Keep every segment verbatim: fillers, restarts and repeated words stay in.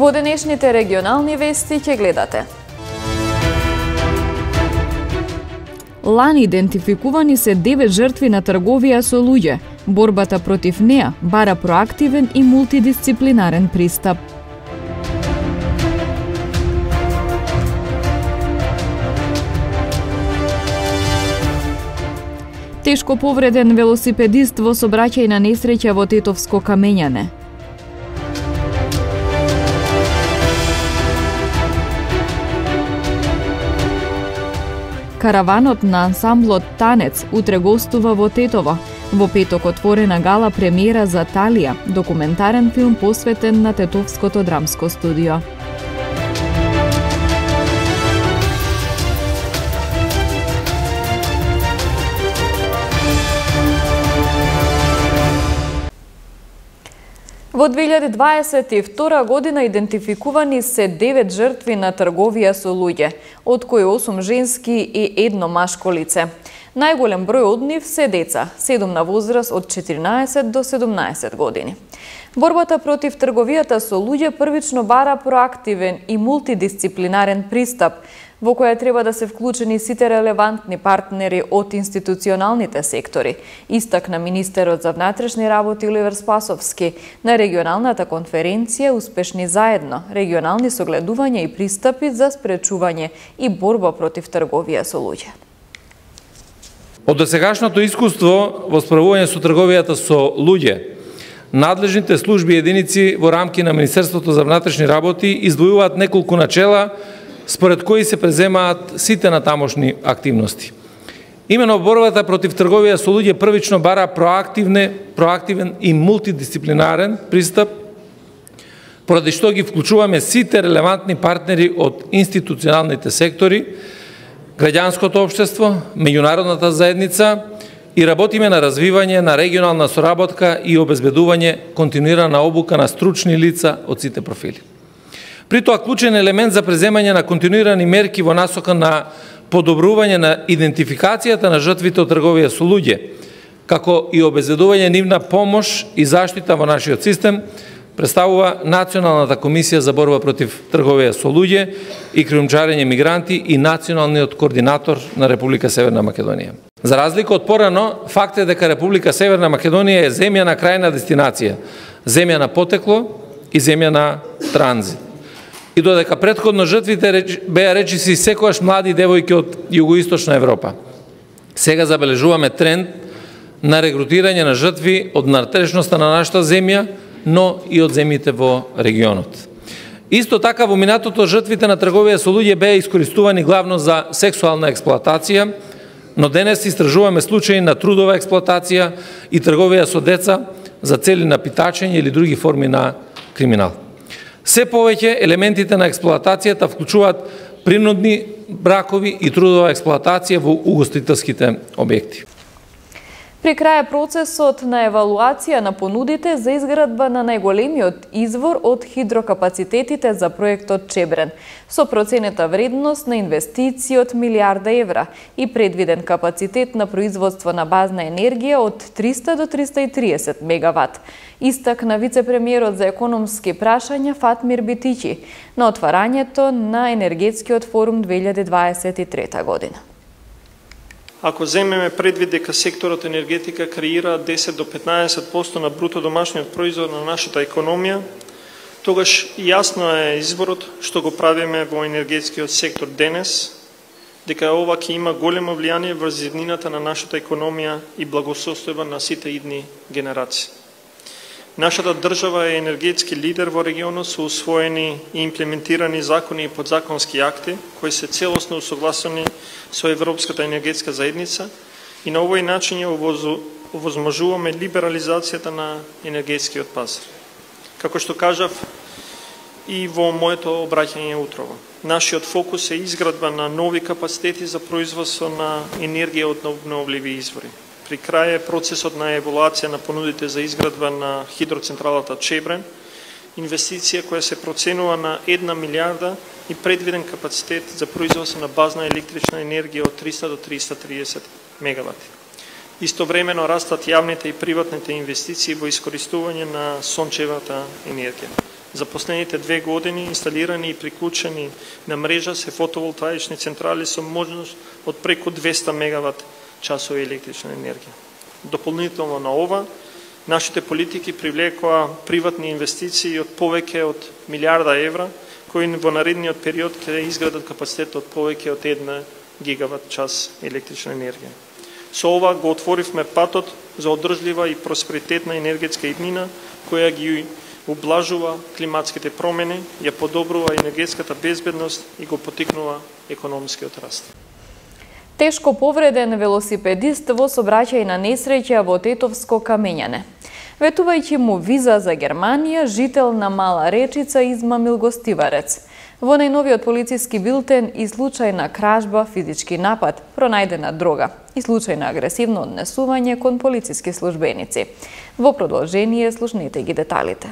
Во денешните регионални вести ќе гледате. Лани идентификувани се девет жртви на трговија со луѓе. Борбата против неа бара проактивен и мултидисциплинарен пристап. Тешко повреден велосипедист во сообраќајна несреќа во Тетовско Камењане. Караванот на ансамблот Танец утре гостува во Тетово. Во петок отворена гала премиера за Талија, документарен филм посветен на Тетовското драмско студио. Во две илјади дваесет и втора година идентификувани се девет жртви на трговија со луѓе, од кои осум женски и едно машко лице. Најголем број од нив се деца, седум на возраст од четиринаесет до седумнаесет години. Борбата против трговијата со луѓе првично бара проактивен и мултидисциплинарен пристап, во која треба да се вклучени сите релевантни партнери од институционалните сектори, истакна министерот за внатрешни работи Оливер Спасовски на регионалната конференција Успешни заедно, регионални согледувања и пристапи за спречување и борба против трговија со луѓе. Од досегашното искуство во справување со трговијата со луѓе, надлежните служби и единици во рамки на Министерството за внатрешни работи издвојуваат неколку начела според кои се преземаат сите натамошни активности. Имено борбата против трговија со луѓе првично бара проактивне, проактивен и мултидисциплинарен пристап, поради што ги вклучуваме сите релевантни партнери од институционалните сектори, граѓанското општество, меѓународната заедница и работиме на развивање на регионална соработка и обезбедување континуирана обука на стручни лица од сите профили. При тоа клучен елемент за преземање на континуирани мерки во насока на подобрување на идентификацијата на жртвите од трговија со луѓе, како и обезбедување нивна помош и заштита во нашиот систем, представува Националната комисија за борба против трговија со луѓе и кријумчарење мигранти и националниот координатор на Република Северна Македонија. За разлика од порано, факт е дека Република Северна Македонија е земја на крајна дестинација, земја на потекло и земја на транзит. И додека претходно жртвите беа речиси секогаш млади девојки од југоисточна Европа, сега забележуваме тренд на регрутирање на жртви од натрешноста на нашата земја, но и од земјите во регионот. Исто така во минатото жртвите на трговија со луѓе беа искористувани главно за сексуална експлоатација, но денес истражуваме случаи на трудова експлоатација и трговија со деца за цели на питачење или други форми на криминал. Се повеќе елементите на експлоатацијата вклучуваат принудни бракови и трудова експлоатација во угостителските објекти. При крај процесот на евалуација на понудите за изградба на најголемиот извор од хидрокапацитетите за проектот Чебрен, со проценета вредност на инвестиции од милиарда евра и предвиден капацитет на производство на базна енергија од триста до триста и триесет мегават, истакна вице-премиерот за економски прашања Фатмир Битичи на отварањето на енергетскиот форум две илјади дваесет и трета година. Ако земеме предвид дека секторот енергетика креира десет до петнаесет проценти на бруто домашниот производ на нашата економија, тогаш јасно е изборот што го правиме во енергетскиот сектор денес, дека ова ќе има големо влијание врз иднината на нашата економија и благосостојба на сите идни генерации. Нашата држава е енергетски лидер во регионот со усвоени и имплементирани закони и подзаконски акти кои се целосно усогласени со Европската енергетска заедница и на овој начин ја овозможуваме либерализацијата на енергетскиот пазар. Како што кажав и во моето обраќање утрово, нашиот фокус е изградба на нови капацитети за производство на енергија од обновливи извори. При крај е процесот на евалуација на понудите за изградба на хидроцентралата Чебрен, инвестиција која се проценува на една милиарда и предвиден капацитет за производство на базна електрична енергија од триста до триста и триесет мегавати. Истовремено растат јавните и приватните инвестиции во искористување на сончевата енергија. За последните две години инсталирани и приклучени на мрежа се фотоволтаични централи со можност од преку двесте мегават часови електрична енергија. Дополнително на ова, нашите политики привлекоа приватни инвестиции од повеќе од милиарда евра, кои во наредниот период ќе изградат капацитет од повеќе од една гигават час електрична енергија. Со ова го отворивме патот за одржлива и просперитетна енергетска иднина, која ги ублажува климатските промени, ја подобрува енергетската безбедност и го потикнува економскиот раст. Тешко повреден велосипедист во сообраќајна на несреќа во Тетовско камењане. Ветувајќи му виза за Германија, жител на Мала Речица измамил гостиварец. Во најновиот полициски билтен и случај на кражба, физички напад, пронајдена дрога и случај на агресивно однесување кон полициски службеници. Во продолжение слушнете ги деталите.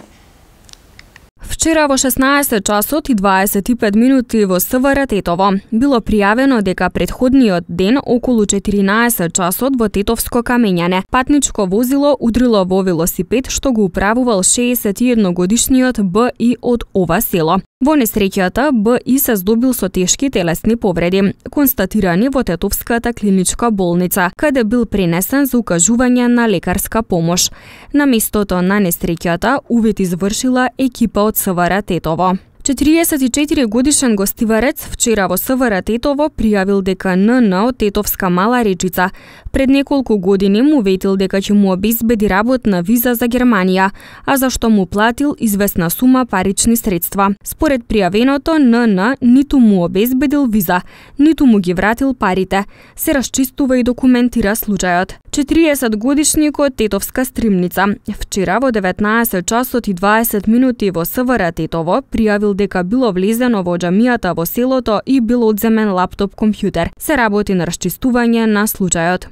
Вчера во шеснаесет часот и дваесет и пет минути во СВР Тетово било пријавено дека претходниот ден околу четиринаесет часот во Тетовско камењане патничко возило удрило во велосипед што го управувал шеесет и едногодишниот Б И од ова село. Во несреќата Б И се здобил со тешки телесни повреди, констатирани во Тетовската клиничка болница, каде бил пренесен за укажување на лекарска помош. На местото на несреќата увид извршила екипа од СВР Тетово. четириесет и четири годишен гостиварец вчера во СВР Тетово пријавил дека Н Н од Тетовска Мала Речица пред неколку години му ветил дека ќе му обезбеди работна виза за Германија, а зашто му платил известна сума парични средства. Според пријавеното, Н Н ниту му обезбедил виза, ниту му ги вратил парите. Се расчистува и документира случајот. четириесет годишникот Тетовска Стримница вчера во деветнаесет часот и дваесет минути во СВР Тетово пријавил дека било влезено во џамијата во селото и бил одземен лаптоп компјутер. Се работи на расчистување на случајот.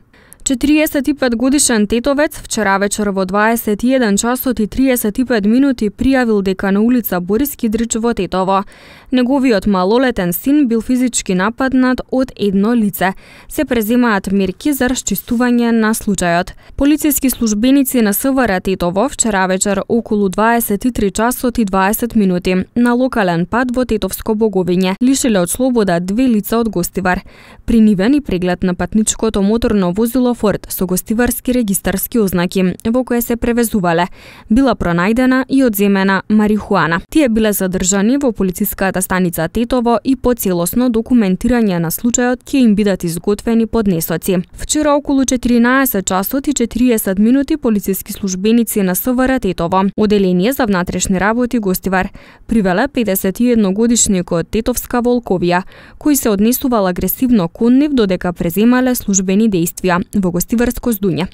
четириесет и пет годишен тетовец вчера вечер во дваесет и еден часот и триесет и пет минути пријавил дека на улица Борис Кидрич во Тетово неговиот малолетен син бил физички нападнат од едно лице. Се преземаат мерки за расчистување на случајот. Полициски службеници на СВР Тетово вчера вечер околу дваесет и три часот и дваесет минути на локален пат во Тетовско Боговиње лишиле од слобода две лица од гостивар. При нивен и преглед на патничкото моторно возило Форд со гостиварски регистарски ознаки во кое се превезувале. Била пронајдена и одземена марихуана. Тие биле задржани во полициската станица Тетово и по целосно документирање на случајот ќе им бидат изготвени поднесоци. Вчера околу четиринаесет часот и четириесет минути полициски службеници на СВР Тетово, Оделение за внатрешни работи гостивар, привеле педесет и едногодишникот Тетовска Волковија, кој се однесувал агресивно кон нив додека преземале службени дејствија во гостиварско здуње.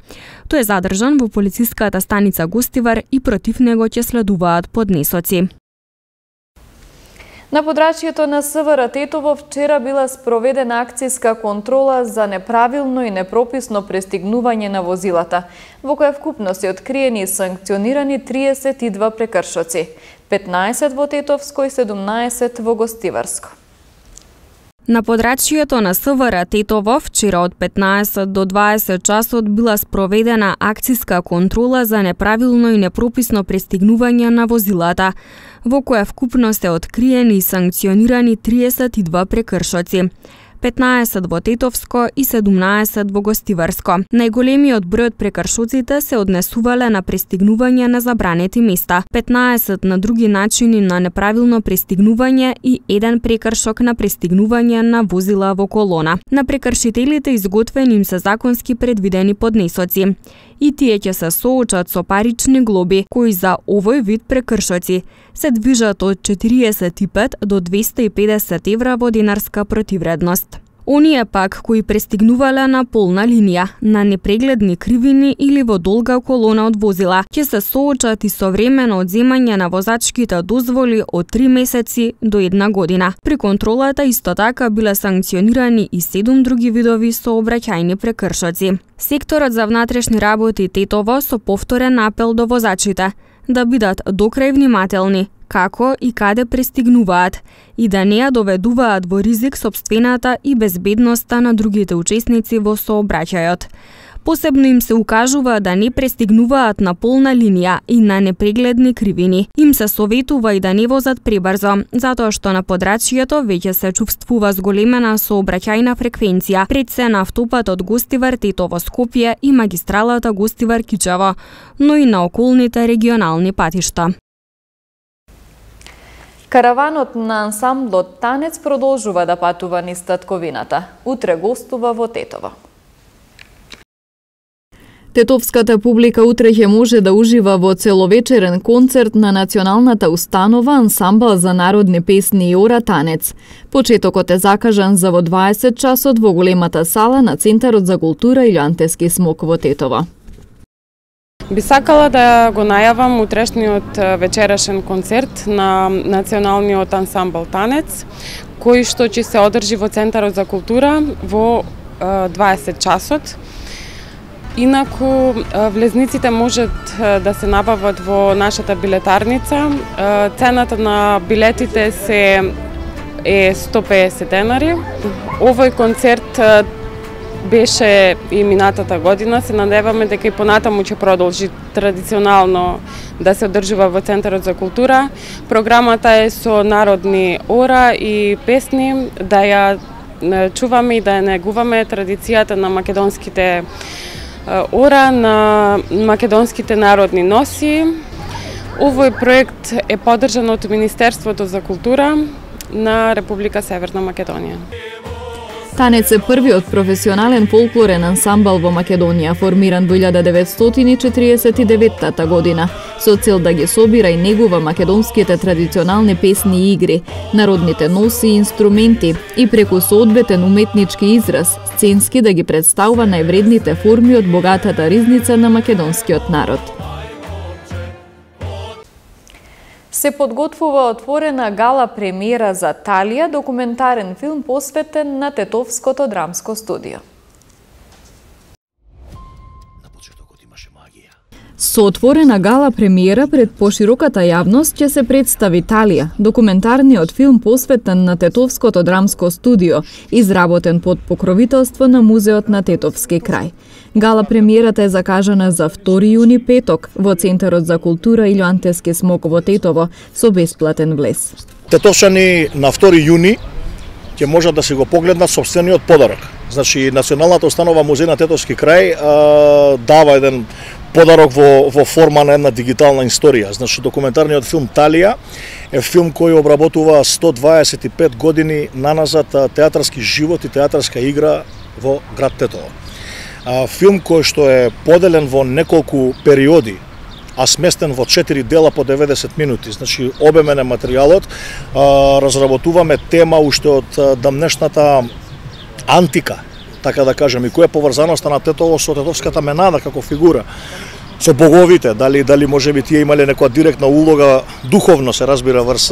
Тој е задржан во полициската станица Гостивар и против него ќе следуваат поднесоци. На подрачјето на СВР Тетово вчера била спроведена акцијска контрола за неправилно и непрописно пристигнување на возилата, во која вкупно се откриени и санкционирани триесет и два прекршоци, петнаесет во Тетовско и седумнаесет во Гостиварско. На подрачјето на СВР Тетово вчера од петнаесет до дваесет часот била спроведена акцијска контрола за неправилно и непрописно пристигнување на возилата, во која вкупно се откриени и санкционирани триесет и два прекршоци, петнаесет во Тетовско и седумнаесет во Гостиварско. Најголемиот број од прекршоците се однесувале на пристигнување на забранети места, петнаесет на други начини на неправилно пристигнување и еден прекршок на пристигнување на возила во колона. На прекршителите изготвени им се законски предвидени поднесоци и тие ќе се соочат со парични глоби, кои за овој вид прекршоци се движат од четириесет и пет до двесте и педесет евра во динарска противредност. Оние пак кои пристигнувале на полна линија, на непрегледни кривини или во долга колона од возила, ќе се соочат и со време на одземање на возачките дозволи од три месеци до една година. При контролата исто така биле санкционирани и седум други видови сообраќајни прекршоци. Секторот за внатрешни работи Тетово со повторен апел до возачите да бидат докрај внимателни како и каде пристигнуваат и да не ја доведуваат во ризик сопствената и безбедноста на другите учесници во сообраќајот. Посебно им се укажува да не престигнуваат на полна линија и на непрегледни кривини. Им се советува и да не возат пребрзо, затоа што на подрачјето веќе се чувствува зголемена сообраќајна фреквенција, пред се на автопатот Гостивар-Тетово Скопје и магистралата Гостивар-Кичево, но и на околните регионални патишта. Караванот на ансамблот Танец продолжува да патува низ татковината. Утре гостува во Тетово. Тетовската публика утре ќе може да ужива во целовечерен концерт на националната установа Ансамбл за народни песни и ора Танец. Почетокот е закажан за во дваесет часот во големата сала на Центарот за култура Илјантески смок во Тетово. Би сакала да го најавам утрешниот вечерашен концерт на националниот ансамбл Танец, кој што ќе се одржи во Центарот за култура во дваесет часот. Инаку, влезниците можат да се набават во нашата билетарница. Цената на билетите се е сто пеесет денари. Овој концерт беше и минатата година. Се надеваме дека и понатаму ќе продолжи традиционално да се одржува во Центарот за култура. Програмата е со народни ора и песни, да ја чуваме и да ја негуваме традицијата на македонските ора, на македонските народни носи. Овој проект е поддржан од Министерството за култура на Република Северна Македонија. Танец е првиот професионален фолклорен ансамбл во Македонија, формиран во илјада деветстотини четиридесет и деветта година, со цел да ги собира и негува македонските традиционални песни и игри, народните носи и инструменти и преку соодветен уметнички израз, сценски да ги представува највредните форми од богатата ризница на македонскиот народ. Се подготвува отворена гала премиера за Талија, документарен филм посветен на Тетовското драмско студио. Со отворена гала премиера пред пошироката јавност ќе се представи Талија, документарниот филм посветен на Тетовското драмско студио, изработен под покровителство на Музеот на Тетовски крај. Гала премиерата е закажана за втори јуни петок во Центарот за култура Илјантески смок во Тетово со бесплатен влез. Тетовчани на втори јуни ќе можат да се го погледнат сопствениот подарок. Значи, Националната установа Музеј на Тетовски крај а, дава еден подарок во, во форма на една дигитална историја. Значи, документарниот филм Талија е филм кој обработува сто дваесет и пет години наназад театарски живот и театарска игра во град Тетово. А, филм кој што е поделен во неколку периоди, а сместен во четири дела по деветдесет минути. Значи, обемен е материјалот. А, разработуваме тема уште од дамнешната антика, така да кажем, и која е поврзаноста на Тетово со тетовската менада како фигура, со боговите, дали дали можеби тие имале некоја директна улога духовно, се разбира, врз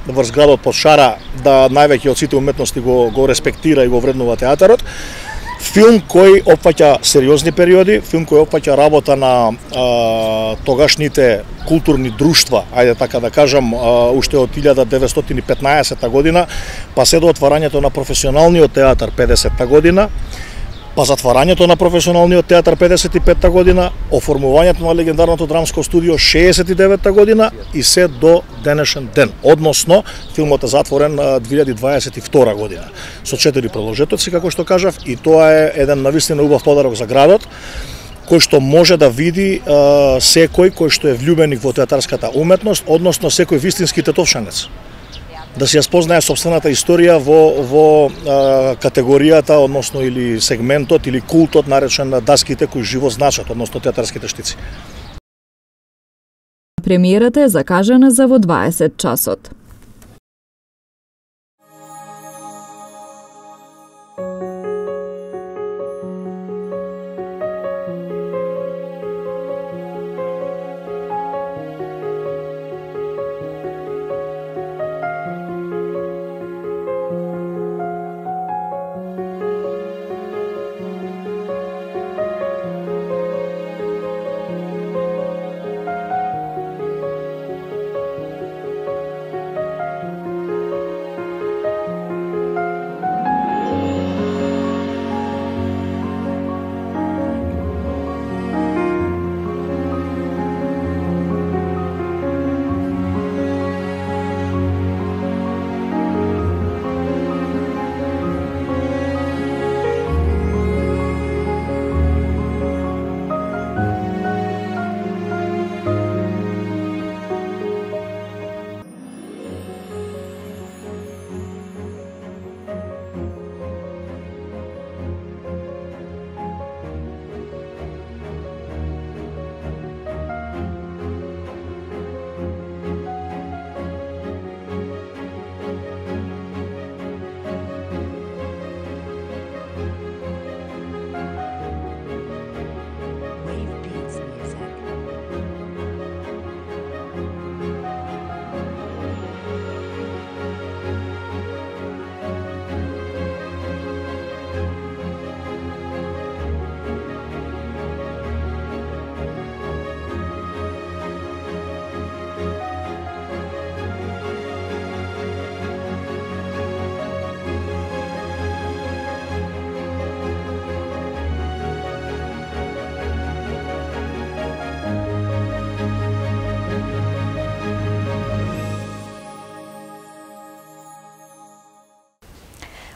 врз градот под шара, да највеќе од сите уметности го го респектира и го вреднува театарот. Филм кој опфаќа сериозни периоди, филм кој опфаќа работа на а, тогашните културни друштва, ајде така да кажам, а, уште од илјада деветстотини и петнаесетта година, па се до отварањето на професионалниот театар педесетта година, па затварањето на професионалниот театар педесет и петта година, оформувањето на легендарното драмско студио шеесет и деветта година и се до денешен ден. Односно, филмот е затворен две илјади дваесет и втора година со четири продолжетоци, како што кажав, и тоа е еден навистина убав подарок за градот, кој што може да види а, секој кој што е влюбеник во театарската уметност, односно секој вистински тетовшанец, да се ја спознае собствената историја во, во а, категоријата, односно или сегментот или култот наречен на даските кои живо значат, односно театарските штици. Премиерата е закажана за во дваесет часот.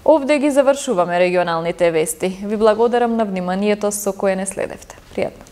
Овде ги завршуваме регионалните вести. Ви благодарам на вниманието со кое не следевте. Пријатно.